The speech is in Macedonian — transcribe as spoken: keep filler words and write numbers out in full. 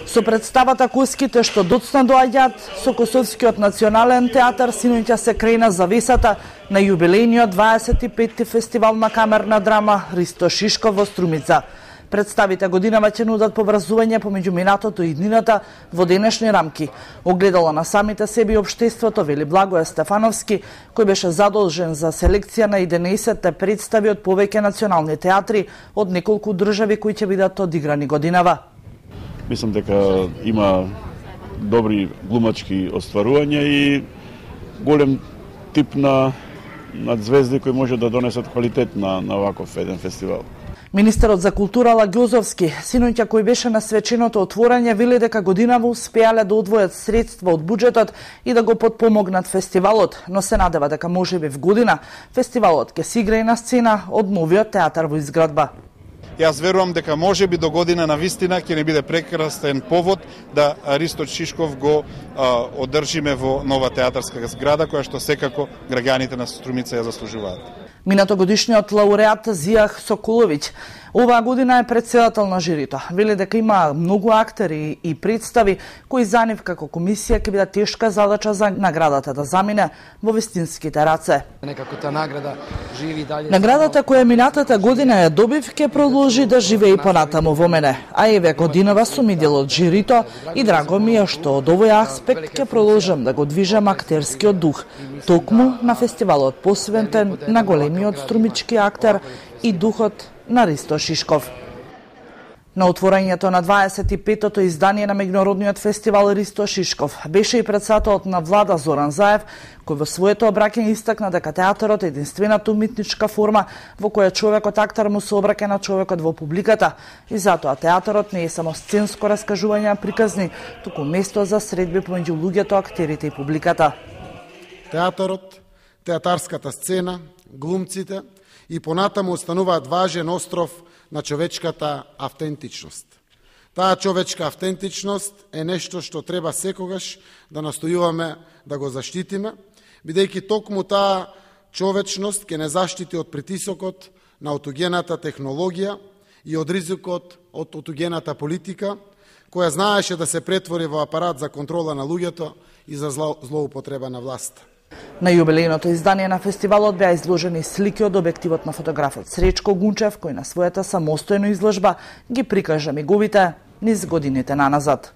Со представата Куските што доцна доаѓаат со Косовскиот национален театар синоќа се крена завесата на јубилејниот дваесет и петти фестивал на камерна драма Ристо Шишков во Струмица. Представите годинава ќе нудат поврзување помеѓу минатото и иднината во денешни рамки. Огледало на самите себе и општеството, вели Благоje Стефановски, кој беше задолжен за селекција на единаесет представи од повеќе национални театри од неколку држави кои ќе бидат одиграни годинава. Мислам дека има добри глумачки остварувања и голем тип на на звезди кои може да донесат квалитет на на ваков еден фестивал. Министерот за култура Лагјозовски, синоќа кој беше на свеченото отворање, вели дека годинава успеале да одвојат средства од буџетот и да го потпомогнат фестивалот, но се надева дека можеби в година фестивалот ќе се играе на сцена од новиот театар во изградба. Јас верувам дека можеби до година на вистина ќе не биде прекрасен повод да Ристо Шишков го а, одржиме во нова театарска зграда која што секако граѓаните на Струмица ја заслужуваат. Минатогодишниот лауреат Зијах Соколовиќ оваа година е претседател на жирито. Вели дека има многу актери и представи кои за нив како комисија ќе биде тешка задача за наградата да замине во вистинските раце. Некако таа награда живи дале. Наградата која минатата година ја добив ќе продолжи да живее и понатаму во мене. А еве годинава сум и дел од жирито и драго ми е што од овој аспект ќе продолжам да го движам актерскиот дух, токму на фестивалот посветен на големиот струмички актер и духот на Ристо Шишков. На отворањето на дваесет и петтото издание на меѓународниот фестивал Ристо Шишков беше и председателот на влада Зоран Заев, кој во своето обраќање истакна дека театарот е единствената уметничка форма во која човекот актер му се обраќа на човекот во публиката и затоа театарот не е само сценско раскажување на приказни, туку место за средби помеѓу луѓето, актерите и публиката. Театарот, театарската сцена, глумците и понатаму остануваат важен остров на човечката автентичност. Таа човечка автентичност е нешто што треба секогаш да настојуваме да го заштитиме, бидејќи токму таа човечност ќе не заштити од притисокот на отугената технологија и од ризикот од отугената политика, која знаеше да се претвори во апарат за контрола на луѓето и за злоупотреба на власт. На јубилејното издание на фестивалот беа изложени слики од објективот на фотографот Сречко Гунчев, кој на својата самостојна изложба ги прикажа миговите низ годините наназад.